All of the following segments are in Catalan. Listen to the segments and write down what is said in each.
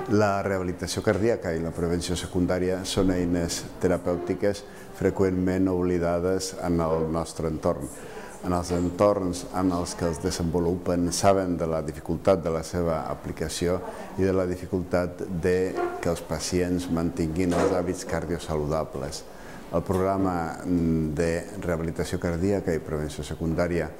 La rehabilitació cardíaca i la prevenció secundària són eines terapèutiques freqüentment oblidades en el nostre entorn. En els entorns en els que els desenvolupen saben de la dificultat de la seva aplicació i de la dificultat que els pacients mantinguin els hàbits cardiosaludables. El programa de rehabilitació cardíaca i prevenció secundària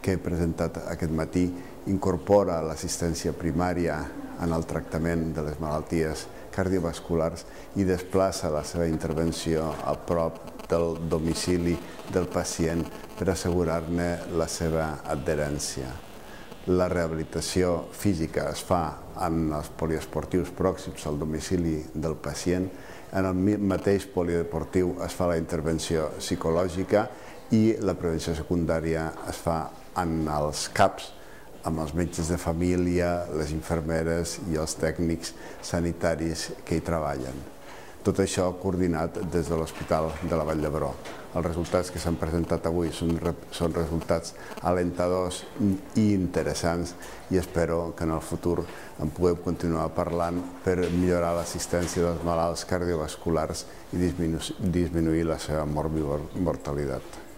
que he presentat aquest matí incorpora l'assistència primària en el tractament de les malalties cardiovasculars i desplaça la seva intervenció a prop del domicili del pacient per assegurar-ne la seva adherència. La rehabilitació física es fa en els poliesportius pròxims al domicili del pacient. En el mateix polideportiu es fa la intervenció psicològica i la prevenció secundària es fa en els CAPs, amb els metges de família, les infermeres i els tècnics sanitaris que hi treballen. Tot això coordinat des de l'Hospital de la Vall d'Hebron. Els resultats que s'han presentat avui són resultats alentadors i interessants i espero que en el futur en puguem continuar parlant per millorar l'assistència dels malalts cardiovasculars i disminuir la seva mortalitat.